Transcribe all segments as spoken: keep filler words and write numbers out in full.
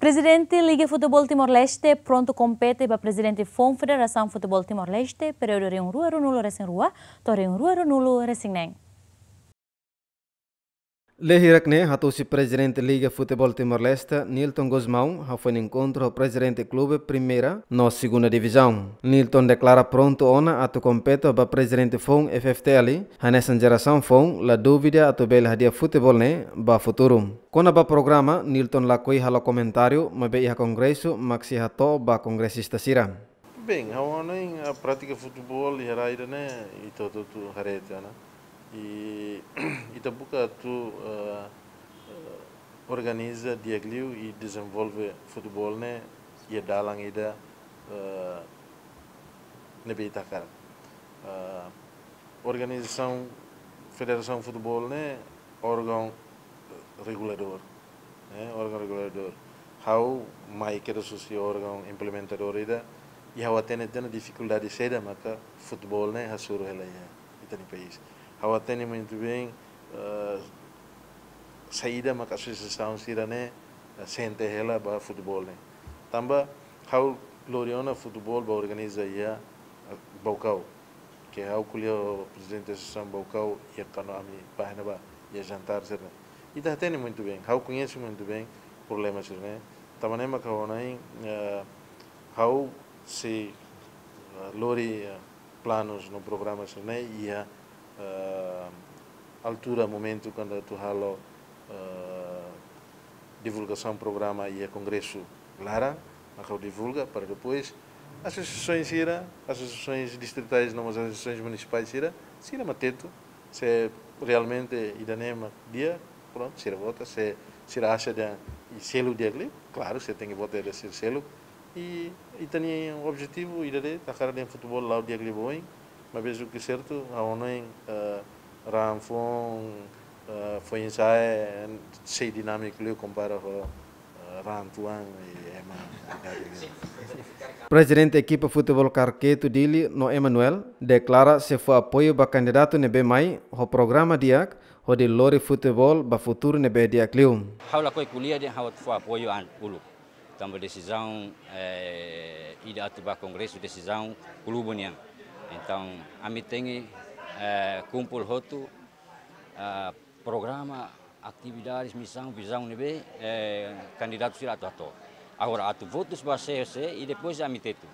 Prezidente Liga Futeból Timor-Leste prontu kompete ba prezidente foun Federasaun Futeból Timor-Leste, períodu rihun rua ruanulu resin rua to'o rihun rua ruanulu resin neen. Lee hirak ne'e hatusi prezidente Liga Futeból Timor-Leste, Nilton Gusmão, hafoin enkontru ho prezidente klube Primeira no Segunda Divizaun. Nilton deklara prontu ona atu kompete ba prezidente foun F F T L, hanesan jerasaun foun la dúvida atu bele hadi'a futeból ne'e ba futuru. Kona-ba programa, Nilton lakohi halo komentáriu, maibé iha kongresu mak sei hato'o ba kongresista sira. Bem, ha'u hanoin, a prátika futeból iha rai ida-ne'e, ita hotu-hotu haree tiha ona. I ita buka atu, eh, eh, organiza di'ak liu i dezenvolve futeból ne'e iha dalan ida, eh, ne'ebé ita hakarak. Eh, organizasaun, Federasaun Futeból ne'e órgaun reguladór, ne'e, órgaun reguladór. Ha'u mai kedas husi órgaun implementadór ida, i ha'u hatene tiha ona difikuldade saida maka futeból ne'e hasoru hela iha ita-nia país. Ha'u hatene muito bem, eh, saida maka asosiasaun sira-ne'e, eh, sente hela ba futeból ne'e. Tanba ha'u lori ona futeból ba organiza iha, eh, Baucau. Ke ha'u ko'alia ho prezidente asosiasaun Baucau iha kuandu ami bá iha ne'ebá, iha jantar sira-ne'e. Ita hatene muito bem, ha'u koñese muito bem problema sira-ne'e. Tanba ne'e maka ha'u hanoin, eh, ha'u sei, eh, lori, eh, planus no programa sira-ne'e iha, eh, altura, momentu kuandu atu halo, eh, divulgasaun programa iha kongresu laran, maka ha'u divulga para depois asosiasaun sira, asosiasaun distritais no mós asosiasaun munisipais sira, sira mak tetu se realmente ida-ne'e mak di'ak, prontu, sira vota, se sira acha dehan selu di'ak liu, klaru, sira tenke vota dehan sira selu. I ita-nia objetivu ida de'it, ita hakarak dehan futeból la'o di'ak liu ba oin, maibé o que é certo, ha'u hanoin, eh, raan foun, eh, foin-sa'e sei dinámiku liu kompara ho, eh, raan tuan i ema idade liu. Prezidente ekipa futeból Karketu Dili no Emanuel deklara sei fó apoiu ba kandidatu ne'ebé mai ho programa di'ak, hodi lori futeból ba futuru ne'ebé di'ak liu. Ha'u lakohi ko'alia dehan ha'u atu fó apoiu an uluk. Tanba desizaun, eh, ida atu bá kongresu desizaun klube nian. Entaun, ami tenke, eh, kumpul hotu, eh, programa, atividades, misaun, vizaun ne'ebé, eh, kandidatu sira atu hato'o. Agora atu votus ba sé, sé, i depois ami tetu.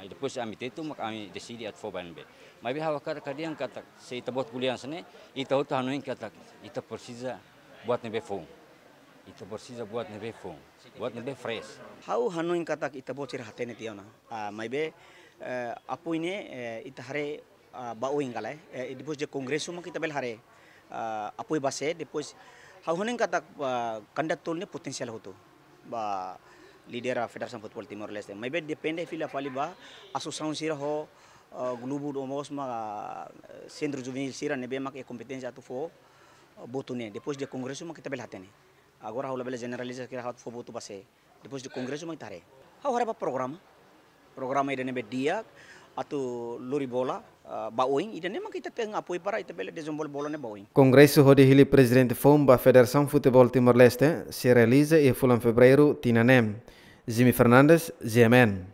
I depois ami tetu, mak ami deside atu fó ba ne'ebé. Maibé ha'u hakarak dehan katak, se ita-boot ko'alia hanesan ne'e, ita hotu hanoin katak, ita presiza buat ne'ebé foun. Ita presiza buat ne'ebé foun. Buat ne'ebé fresh. Ha'u hanoin katak ita-boot sira hatene tiha ona. Ah, maibé, eh, apoiu ne'e, eh, ita haree, ah, ba oin ka lae. Eh, depois de kongresu mak ita bele haree, ah, apoiu ba sé, depois ha'u hanoin katak, ah, kandidatu tolu ne'e potensiál hotu ba lidera Federasaun Futeból Timor-Leste. Maibé depende fila fali ba asosiasaun sira ho, ah, klube no mós mak, ah, sentru juvenil sira ne'ebé mak iha kompeténsia atu fó, ah, votu ne'e. Depois de kongresu mak ita bele hatene. Agora ha'u labele jeneraliza katak ha'u atu fó votu ba sé. Depois de kongresu mak ita haree. Ha'u haree ba programa. Programa ida ne'ebé di'ak atu lori bola, ah, ba oin, ida-ne'e mak ita tenke apoiu para ita bele dezenvolve bola ne'e ba oin. Kongresu hodi hili prezidente foun ba Federasaun Futeból Timor-Leste sei realiza iha fulan Fevereiru tinan ne'e. Jimmy Fernandes, G M N.